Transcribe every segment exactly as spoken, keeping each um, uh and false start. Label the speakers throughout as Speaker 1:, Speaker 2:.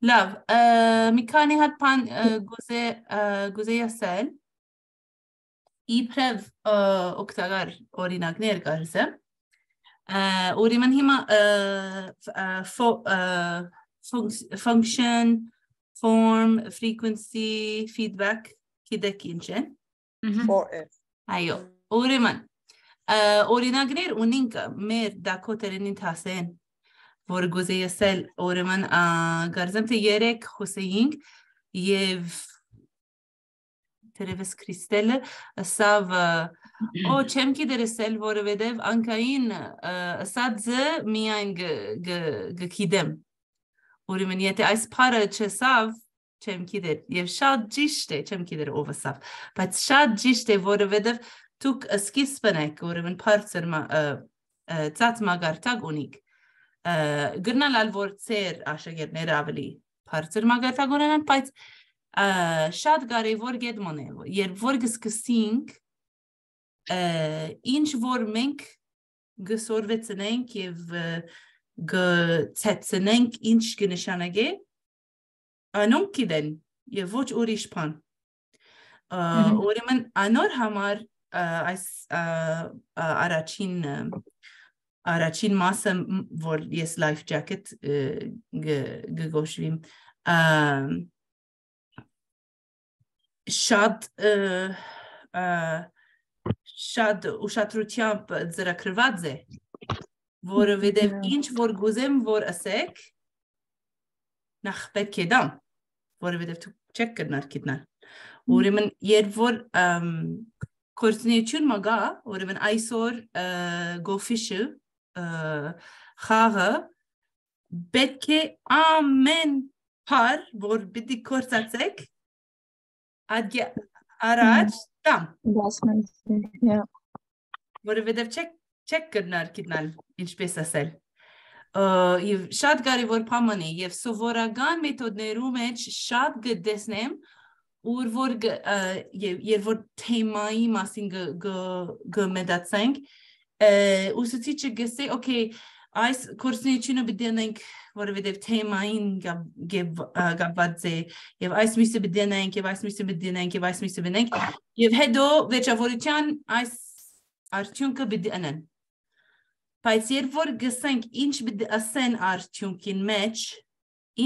Speaker 1: լավ, մի քանի հատ բան գուզեի ասել, իբրև օգտակար օրինակներ կարծեմ, ուրեմն հիմա function, form, frequency, feedback գիտեք ինչ են։ Այո, ուրեմն օրինակներ ունենք մեր դակոտերին ասեն, որ գուզեի ասել, ուրեմն կարծեմ թե երեք խոսեինք եւ Terevez Kristelle ասավ օ չեմ գիտեր ասել որովհետեւ անկային ասածը միայն գկիդեմ ուրեմն եթե այս բառը չասավ չեմ գիտեր եւ շատ ճիշտ է չեմ գիտեր ով ասավ բայց շատ ճիշտ է որովհետեւ դուք սկիզբն եք ուրեմն բարձր ծած մագարտակ ունիք գրնալ որ ծեր աշակերտները ավելի բարձր մագարտակ ունենան բայց շատ կարևոր գետմոն է, երբ որ գսկսինք ինչ որ մենք գսորվեցնենք և գցեցնենք ինչ գնշանագե, անոնք գիտեն և ոչ ուրիշ բան։ Ուրեմն անոր համար այս առաջին առաջին մասը, որ ես life jacket գգոշվիմ, շատ շատ ուշադրությամբ ծրագրված է, որովհետև ինչ որ գուզեմ որ ասեք, նախ պետք է դամ, որովհետև դուք չեք կրնար գիտնալ։ Ուրեմն երբ որ գործունեություն մագա, ուրեմն այսօր գոֆիշը խաղը պետք է ամեն բառ, որ պիտի գործածեք, Առաջ դամ, որովհետև չեք կրնար գիտնալ ինչպես ասել, և շատ կարևոր բան է, և սովորական մեթոդներու մեջ շատ գտեսնեմ, երբ որ թեմայի մասին գմետացենք, ուսուցիչը գսե, օքեյ, այս գործունեությունը պիտի անենք, որովհետև թեմային կապված է, և այս միսը պիտի անենք, և այս միսը պիտի անենք, և այս միսը պիտի անենք, և հետո վերջավորության այս արդյունքը պիտի անեն։ Բայց երբ որ գսենք ինչ պիտի ասեն արդյունքին մեջ,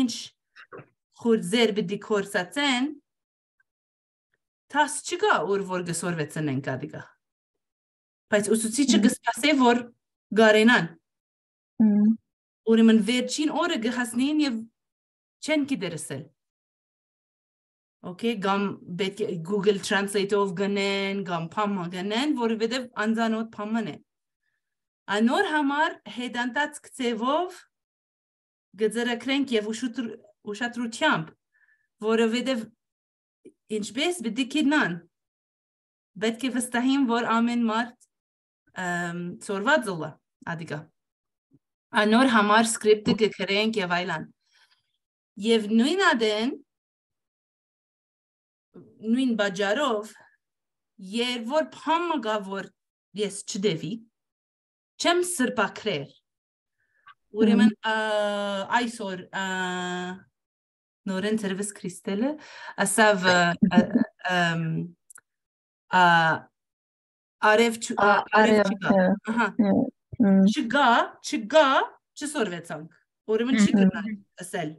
Speaker 1: ինչ խուրձեր պիտի գործածեն, տաս չկա ուր որ գսորվեցնենք ադիգա։ Բայց ուսուցիչը գսպասե, որ գարենան։ Ուրեմն վերջին օրը գհասնին և չեն գիտեր ասել։ Okay, գամ Google Translate-ով գնեն, գամ փամը գնեն, որովհետև անձանոտ փաման է։ Անոր համար հետանտած կցևով գծրակրենք և ուշադրությամբ, որովհետև ինչպես պիտի գիտնան, պետք է վստահին, որ ամեն մարդ ծորված ուլա, ադիգա։ Անոր համար սկրիպտը գկրենք և այլան։ Եվ նույն ադեն, նույն բաջարով, երբ որ փամը գա, որ ես չդևի, չեմ սրպակրեր, ուրեմն այսօր նորեն Terevez Kristelle ասավ արև չգա, չգա, չգա, չսորվեցանք, ուրեմն չի կրնալ ասել,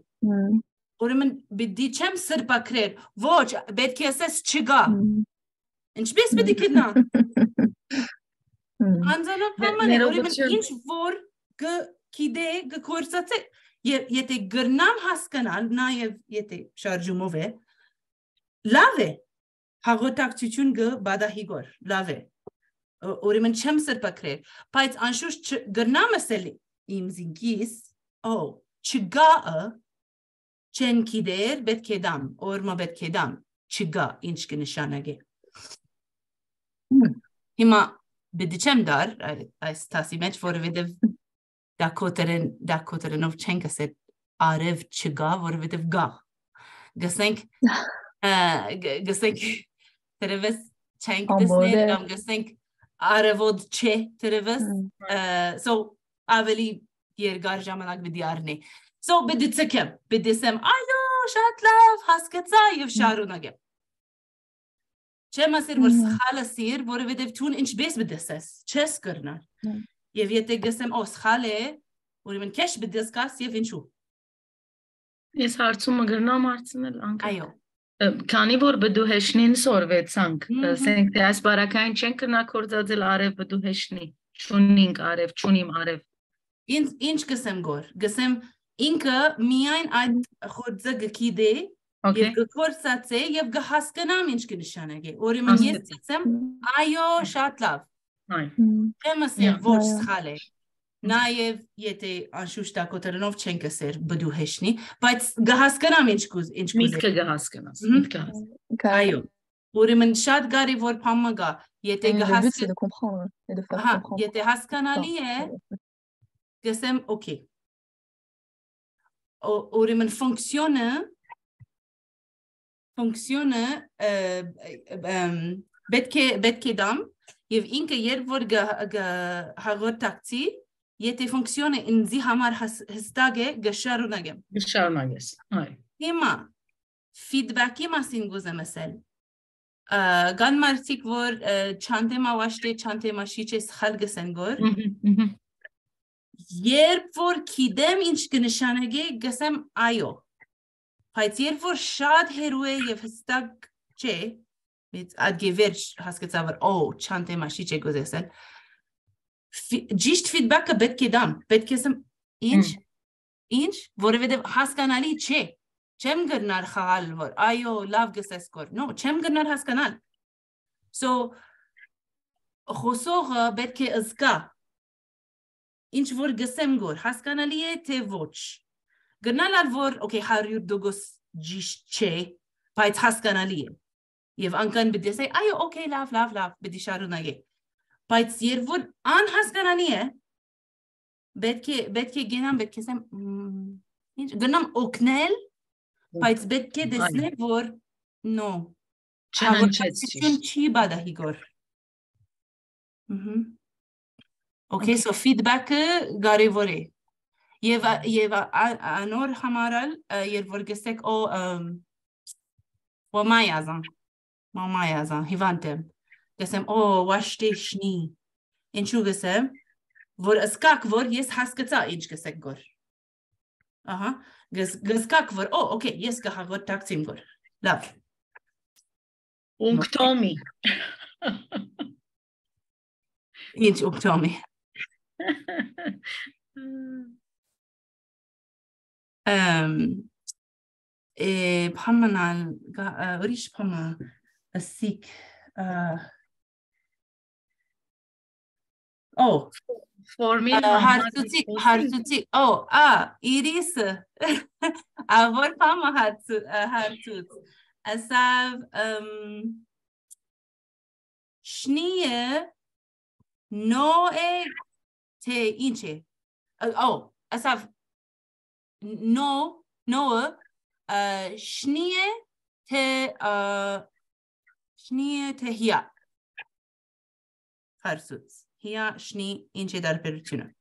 Speaker 1: ուրեմն բիդի չեմ սրպակրեր, ոչ, պետք է ասես չգա, ինչպես պիտի կրնա, անձանոտ պաման է, ուրեմն ինչ որ գկիդե գկործած է, եթե գրնամ հասկանալ, նաև եթե շարժումով է, լավ է, հաղորդակցություն գբադահիգոր, լավ է, ուրեմն չեմ սրպակրեր, բայց անշուշտ գրնամ ասել իմ զինքիս, օ, չգաը, չեն կիդեր, պետք է դամ, օրմա պետք է դամ, չգա, ինչ կնշանագ է։ Հիմա բիդի չեմ դար, այս տասի մեջ, որովհետև դակոտերենով չենք ասել արև չգա, որովհետև գա։ Գսենք, գսենք, Terevez չենք դեսնել, կամ գսենք արևոդ չէ Terevez, so ավելի երկար ժամանակ պիտի առնի։ So بدي تسكب بدي سم أيو شاتلاف هاسكتسا يفشاروناجي چه مسیر ورس خالصیر وره وده تون اینچ بیس بدستس چس کرنا یه ویته قسم اوس خاله وری من کش بدسکاس یه وینشو
Speaker 2: یس هارتسوم مگرنام هارتسنل آنکه
Speaker 1: ایو
Speaker 2: کانی بور بدو هشنین سورویت سانگ سنگ تاس باراکاین چنکرنا کوردادل عارف بدو هشنی چونینگ عارف چونیم عارف
Speaker 1: این اینچ قسم گور قسم اینکه میاین اد خود زگ کیده يبقى كورساتسي يبقى حاسكنا منش كنشانجي وري من يستسم ايو شاتلاف كما سير فوش خاله نايف يتي انشوشتا كوترنوف چنك سير بدو هشني بايت حاسكنا منش كوز انش كوز
Speaker 2: ميتك حاسكنا ميتك
Speaker 1: ايو وري من شات غاري فور بامغا يتي حاسك ها يتي حاسكنا ليه قسم اوكي وري من فونكسيونه فونكسيونه بدك بدك دام يف إنك يرفور جا جا هغور تاكتي يتي فونكسيونه إن زي همار هستاجه جشارو نجم
Speaker 2: جشارو نجس هاي
Speaker 1: هما فيدباكي ما سينجوزه مثل گان مارتيك فور چانته ما واشته چانته ما شيچه خلق سنگور يرفور كيدم إنش كنشانجه قسم آيو Pajtier voor shad herue je vestak che met adgeverch has get saber oh chante mashi che gozesel jist feedback bet kedam bet kesem inch inch vore vede has kanali che chem gernar khal vor ayo lav geses kor no chem gernar has kanal so khosor bet ke azka inch vor gesem gor has kanali te voch Gernal alvor, okay, Harry Dogos Gische, Pait Haskanali. Yev Ankan bidi say, ayo, okay, laugh, laugh, laugh, bidi Sharunage. Pait Siervur an Haskanali, Betke, Betke Genam, Betke Sam, Gernam Oknel, Pait Betke Desnevor, no. Chanan Chi Bada Higor. Okay, so feedback Garivore. يبا يبا أنور حمارل يرفرجسك أو وما يازن وما يازن هيفانتم قسم أو واشتشني إن شو قسم فور أسكاك فور يس حسكتا إنش قسك غور أها قس قسكاك فور أو أوكي يس كها غور تاكسيم غور لاف
Speaker 2: أنكتومي
Speaker 1: إنش أنكتومي Um, eh, Pamana, Rish Pama, a sick. Uh, oh,
Speaker 2: for me,
Speaker 1: hard to see, hard to see. Oh, ah, Iris. Avor Pama had to, hard to. Asav, um, Schnie, no e te inche. Oh, Asav. No, no, uh, Schnie te, uh, Schnie te hia. Harsuts. Hia, Schnie, inche dar perutuna.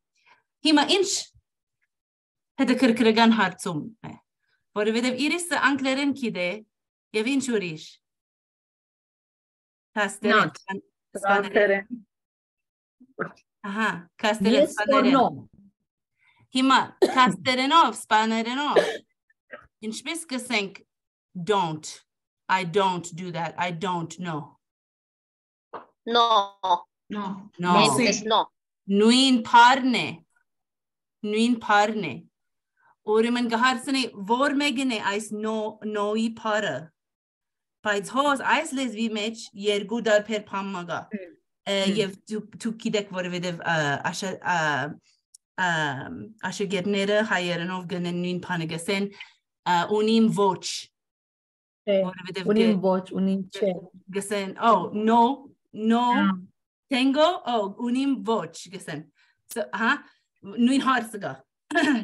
Speaker 1: Hima inch, hede kirkiragan hartsum. Vore vedev iris anklerin kide, yevin churish. Kasteren.
Speaker 2: Kasteren.
Speaker 1: Aha, kasteren.
Speaker 3: Yes or no?
Speaker 1: Hima, Kasterenov, Spanerenov. In Spiska think, don't. I don't do that. I don't know.
Speaker 3: No.
Speaker 2: No.
Speaker 1: No.
Speaker 3: Yes, no.
Speaker 1: Nuin parne. Nuin parne. Oriman gaharsene vormegene eis no noi para. Paiz hos eis les vi mech yergudar per pammaga. Yev tu kidek vorvedev asha um asha gernere hayerenov genen nuin panagasen unim voch.
Speaker 3: Unim voch, unim che.
Speaker 1: Gesen oh no no tengo oh unim voch gesen. So ha nuin harsaga.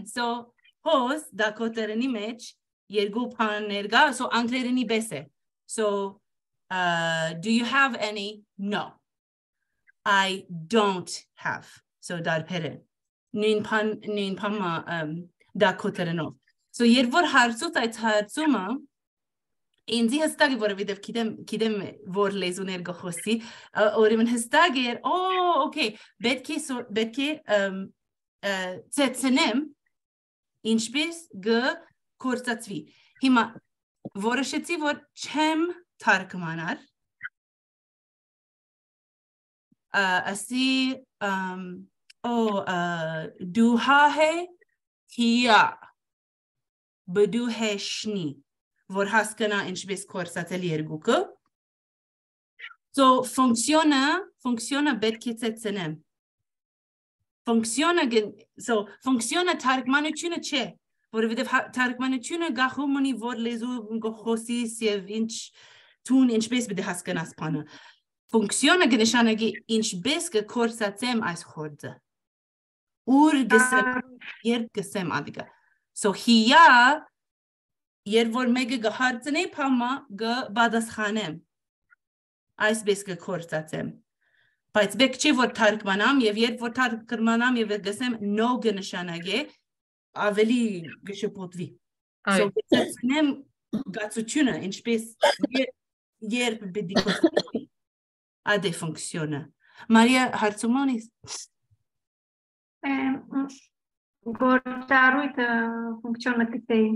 Speaker 1: So hos da kotereni mech yergu panerga so anklereni bese. So uh do you have any? No. I don't have. So dar peren. Nuin pan nuin pama um դա կոտրենով so երբ որ հարցուց այդ հարցումը ինձ հստակ է որովհետև գիտեմ գիտեմ որ լեզուներ գխոսի ուրեմն հստակ է օ օքեյ պետք է պետք է ծեցնեմ ինչպես գ կորցածվի հիմա որոշեցի որ չեմ թարգմանար ասի օ դու հահե հիա բդու հեշնի որ հասկանա ինչպես կորցածել երկուքը so ֆունկցիոնը ֆունկցիոնը պետք է ծեցնեմ ֆունկցիոնը so ֆունկցիոնը թարգմանությունը չէ որովհետև թարգմանությունը գաղում ունի որ լեզու գխոսիս եւ ինչ տուն ինչպես պետք է հասկանաս բանը ֆունկցիոնը կնշանակի ինչպես կկորցածեմ այս խորձը ուր գսեմ երբ գսեմ ադիգա so հիա երբ որ մեկը գհարցնի փամա գբադասխանեմ այսպես կկորցածեմ բայց բեք չի որ թարգմանամ եւ երբ որ թարգմանամ եւ գսեմ no կնշանակի ավելի գշփոթվի so գսեմ գացությունը ինչպես երբ պետք է կորցնի ադե ֆունկցիոնը Մարիա հարցումոնիս
Speaker 4: գործառույթը ֆունկցիոնը կտեի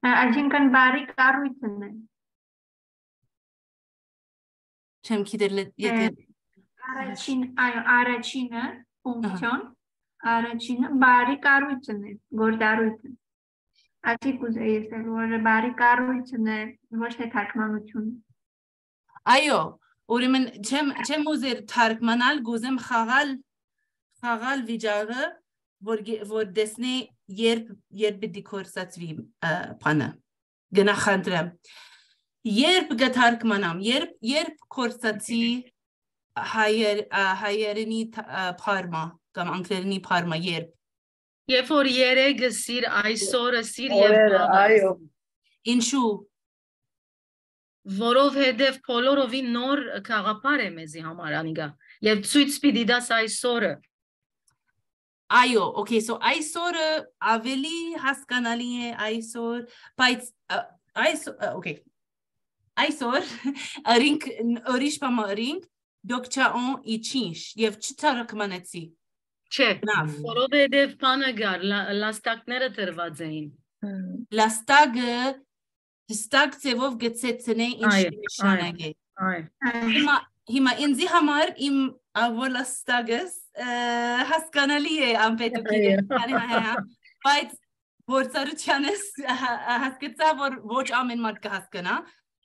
Speaker 4: Այսինքն բարի կառույցն է։
Speaker 1: Չեմ գիտեր եթե
Speaker 4: Առաջին այո առաջինը ֆունկցիոն առաջինը բարի կառույցն է գործառույթը Այսի կուզեի ասել որ բարի կառույցն է ոչ թե թարգմանություն
Speaker 1: Այո ուրեմն չեմ չեմ ուզեր թարգմանալ գուզեմ խաղալ խաղալ վիճակը որ որ դեսնի երբ երբ պիտի կորցածվի բանը գնահատեմ երբ գթարգմանամ երբ երբ կորցածի հայեր հայերենի փարմա կամ անգլերենի փարմա երբ
Speaker 2: երբ որ երեգը սիր այսօրը սիր եւ
Speaker 3: այո
Speaker 1: ինչու
Speaker 2: որովհետեւ բոլորովին նոր խաղապար է մեզի համար անիգա եւ ցույց պիտի դաս այսօրը
Speaker 1: Այո, okay, so այսօրը ավելի հասկանալի է այսօր, բայց այսօր, okay, այսօր արինք ուրիշ բան արինք դոկչաոն իչինչ եւ չթարգմանեցի
Speaker 2: Չէ, որովհետեւ բանը գար լաստակները տրված էին
Speaker 1: լաստակը հստակ ձևով գծեցնե ինչ նշանակե հիմա հիմա ինձի համար իմ ավոլաստագս հասկանալի է անպետուկի բայց գործառությանս հասկացա որ ոչ ամեն մարդ կհասկանա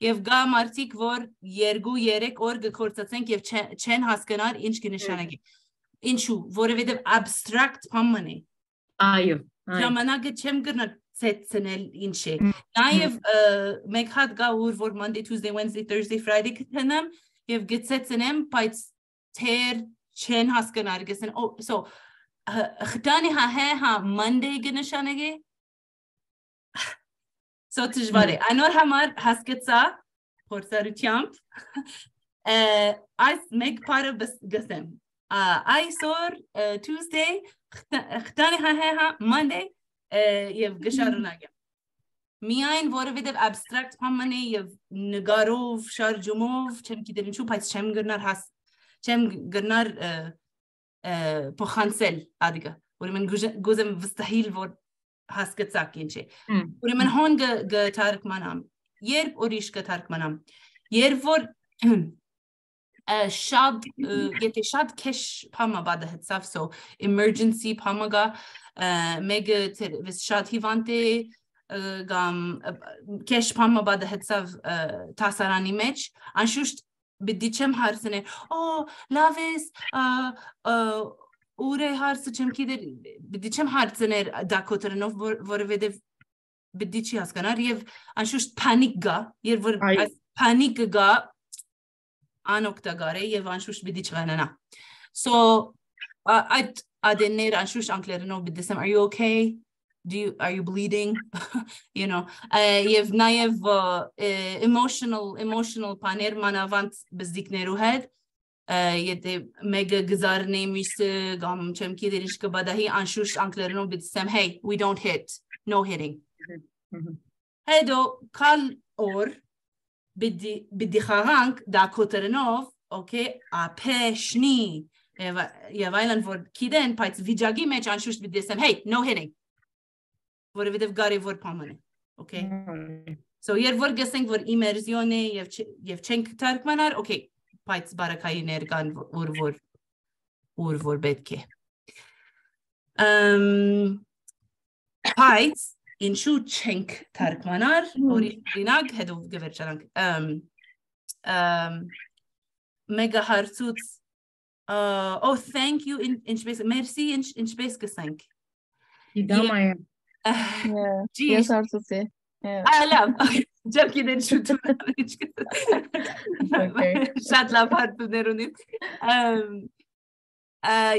Speaker 1: եւ գա մարդիկ որ երկու երեք օր կկործածենք եւ չեն հասկանար ինչ կնշանակի ինչու որովհետեւ abstract բան է
Speaker 2: այո
Speaker 1: ժամանակը չեմ գտնա ծեցնել ինչ է նաեւ մեկ հատ գա ուր որ Monday Tuesday Wednesday Thursday Friday կտնեմ եւ գծեցնեմ բայց թեր չեն հասկանար գսեն oh so խտանի հա հա Monday կնշանակի so դժվար է անոր համար հասկացա փորձառությամբ այս մեկ բառը գսեմ այսօր Tuesday խտանի հա հա Monday եւ գշարունակեմ Միայն որովհետև abstract բան է եւ նկարով շարժումով չեմ գիտեր ինչու բայց չեմ գնար հաս չեմ գնար փոխանցել ադիգա ուրեմն գուզեմ վստահիլ որ հասկացակ ինչ է ուրեմն հոն գթարգմանամ երբ ուրիշ գթարգմանամ երբ որ շատ եթե շատ քեշ փամա բադը հծավ so emergency փամագա մեգը շատ հիվանդ է գամ քեշ փամա բադը հծավ տասարանի մեջ անշուշտ բդի չեմ հարցնել օ լավ ես ուր է հարցը չեմ գիտեր բդի չեմ հարցնել դա կոտրնով որովհետև բդի չի հասկանար եւ անշուշտ պանիկ գա երբ որ այս պանիկը գա անօգտակար է եւ անշուշտ բդի չղանանա so այդ adender անշուշտ անգլերենով բդի ասեմ are you okay do you are you bleeding you know you've naev emotional emotional paner manavant բզդիկներու հետ եթե մեկը գզարնի մյուսը կամ չեմ գիտեր ինչ կբադահի անշուշտ անգլերենով բիծեմ hey we don't hit no hitting հետո կալ օր բիդի խաղանք դա կոտրնով okay ապեշնի եւ այլն որ գիտեն բայց վիճակի մեջ անշուշտ բիդեսեմ hey no hitting որովհետեւ կարևոր բան է okay so երբ որ գսենք որ իմերսիոն է եւ եւ չենք թարգմանար okay բայց բարակայիներ կան որ որ որ որ պետք է ըմ բայց ինչու չենք թարգմանար օրինակ հետո գվերջանանք ըմ ըմ մեգա հարցուց oh thank you ինչպես merci ինչպես կսենք
Speaker 2: իդամայ
Speaker 3: Ես հարցուցի
Speaker 1: Ալավ Ջեմ գիտեն շուտ շատ լավ հարցներ ունիմ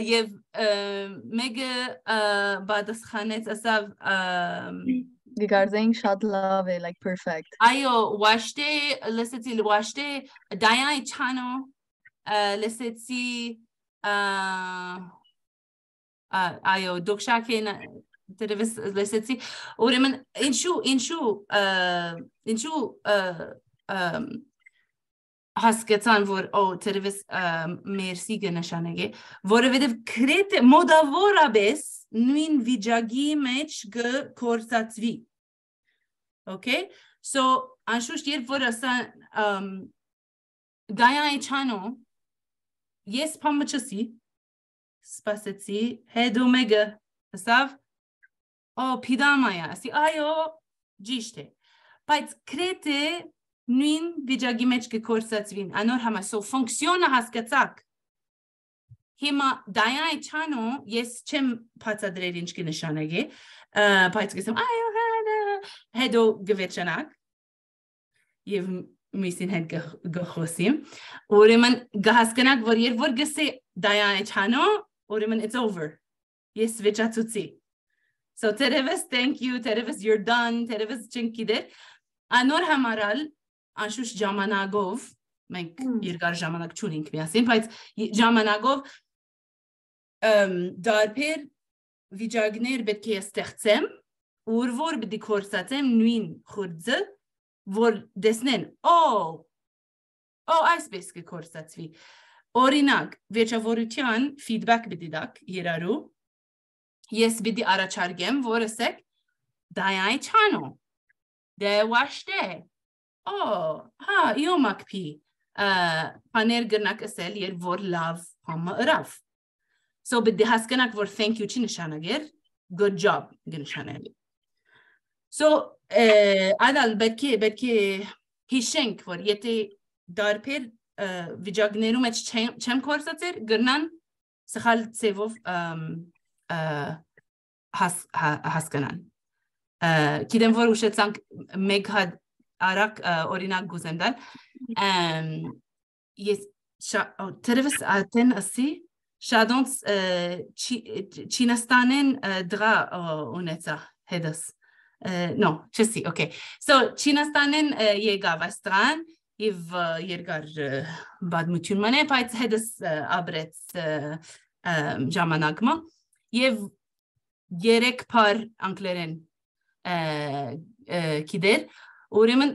Speaker 1: եւ մեգը բադասխանեց ասավ
Speaker 3: Գիգարձեինք շատ լավ է like perfect
Speaker 1: այո վաշտե լսեցի վաշտե դայանի չանո լսեցի այո դոքշակեն Tervis լսեցի ուրեմն ինչու ինչու ինչու հասկացան որ օ tervis մերսի գնաշանեգե որովհետև քրետ մոդավորաբես նույն վիճակի մեջ գործածվի okay so անշուշտ երբ որ ասան դայանի չանո ես փամչսի սպասեցի հետո մեգը ասավ Oh, pidamaya. Asi ayo ճիշտ է։ Բայց քրեթե նույն վիճակի մեջ կկործածվին։ Անոր համար so ֆունկցիոնը հասկացակ։ Հիմա դայանի չանո ես չեմ բացատրել ինչ կնշանակի, բայց կսեմ այո հետո գվերջանակ եւ միսին հետ գխոսիմ։ Ուրեմն գահսկանակ որ երբ որ գսե դայանի չանո, ուրեմն it's over։ Ես վեճացուցի։ So tervis thank you tervis you're done tervis չնկիդեր անոր համարալ անշուշտ ժամանակով մենք երկար ժամանակ չունենք միասին բայց ժամանակով ըմ դարբեր վիճակներ պետք է ստեղծեմ ուր որ պիտի կորսացեմ նույն խորձը որ դեսնեն օ օ այսպես կկորսացվի օրինակ վերջավորության feedback պիտի դակ երարու Ես պիտի առաջարկեմ, որ ասեք դայանի չանո, դե վաշտե, օ, հա, իո մակպի, պաներ գրնակ ասել, երբ որ լավ համը ըրավ։ So պիտի հասկանակ, որ thank you չի նշանագեր, good job գնշանել։ So, այդալ պետք է, պետք է հիշենք, որ եթե դարբեր վիճակներում մեջ չեմ կորսացեր, գրնան սխալ ծևով հասկանան։ Գիտեմ որ ուշեցանք մեկ հատ արակ օրինակ գուզեմ դալ ես tervis ատեն ասի շադոնց Չինաստանեն դրա ունեցա հետս no չսի okay so Չինաստանեն եկավ այստրան եւ երկար բադմություն մանե բայց հետս ապրեց ժամանակը Եվ երեք փար անգլերեն գիտեր, ուրեմն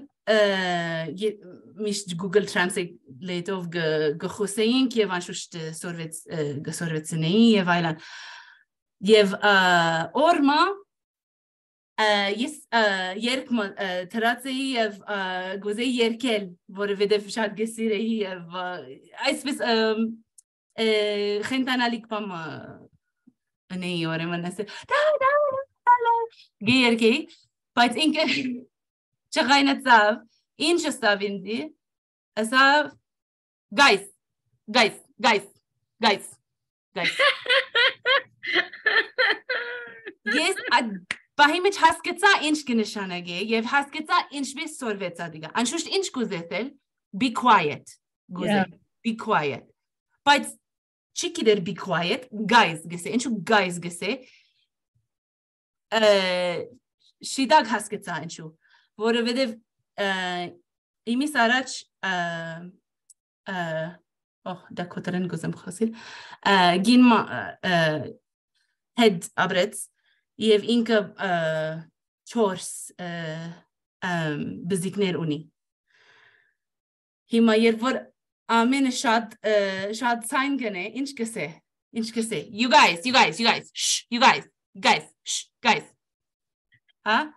Speaker 1: միշտ Google Translate-ով գխոսեինք եւ անշուշտ սորվեց գսորվեցնեին եւ այլն։ Եվ օրմա ես երկ թրացեի եւ գուզեի երկել, որովհետեւ շատ գսիրեի եւ այսպես խենտանալիք բամ Nei ore man asë da da da Gjerki Բայց ինքը չղայնացավ Ինչ ստավ ինձի Ասավ Guys Guys Guys Guys Guys Ես Պահի մեջ հասկացա ինչ կնշանագե Եվ հասկացա ինչպես սորվեցա դիգա Անշուշտ ինչ կուզեցել Be quiet Գուզել Be quiet Բայց Չիկի դեր be quiet, guys գսե, ինչու guys գսե, շիդակ հասկեցա ինչու, որովհետև իմիս առաջ Oh, da kotaren gozem khosil. Gin ma head abrets. Եվ ինքը չորս բզիկներ ունի։ Հիմա երբ որ ամենը շատ շատ ցայն գնե, ինչ կսե, ինչ կսե։ You guys, you guys, you guys, shh, you guys, guys, shh, guys. Հա?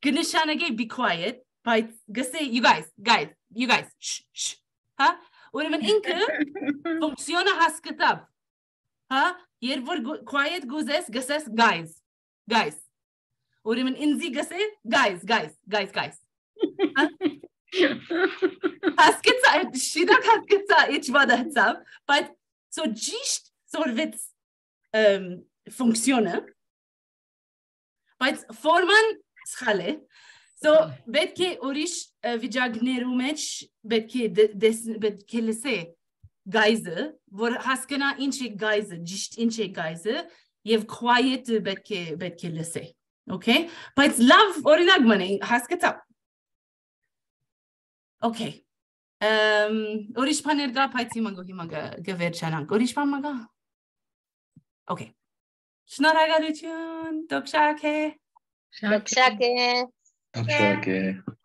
Speaker 1: Գնշանագե be quiet, բայց գսե you guys, guys, you guys, shh, shh. Հա? Ուրեմն ինքը ֆունկցիոնը հասկացավ։ Հա? Երբ որ quiet գուզես, գսես guys, guys. Ուրեմն ինձի գսե guys, guys, guys, guys. Հասկացա, շիդակ հասկացա, ինչ վադացավ, բայց so ճիշտ սորվեց ֆունկցիոնը, բայց ֆորման սխալ է, so պետք է ուրիշ վիճակներու մեջ պետք է լսե Guys-ը, որ հասկանա ինչ է guys-ը, ճիշտ ինչ է guys-ը, եւ quiet-ը պետք է պետք է լսե, okay? Բայց լավ օրինակ մնա, հասկացա։ Okay. Ամ ուրիշ բաներ կա, բայց հիմա հիմա գվերջանանք։ Ուրիշ բան մա կա։ Okay. Շնորհակալություն, դոկշակե։
Speaker 2: Շակե։
Speaker 5: Շակե։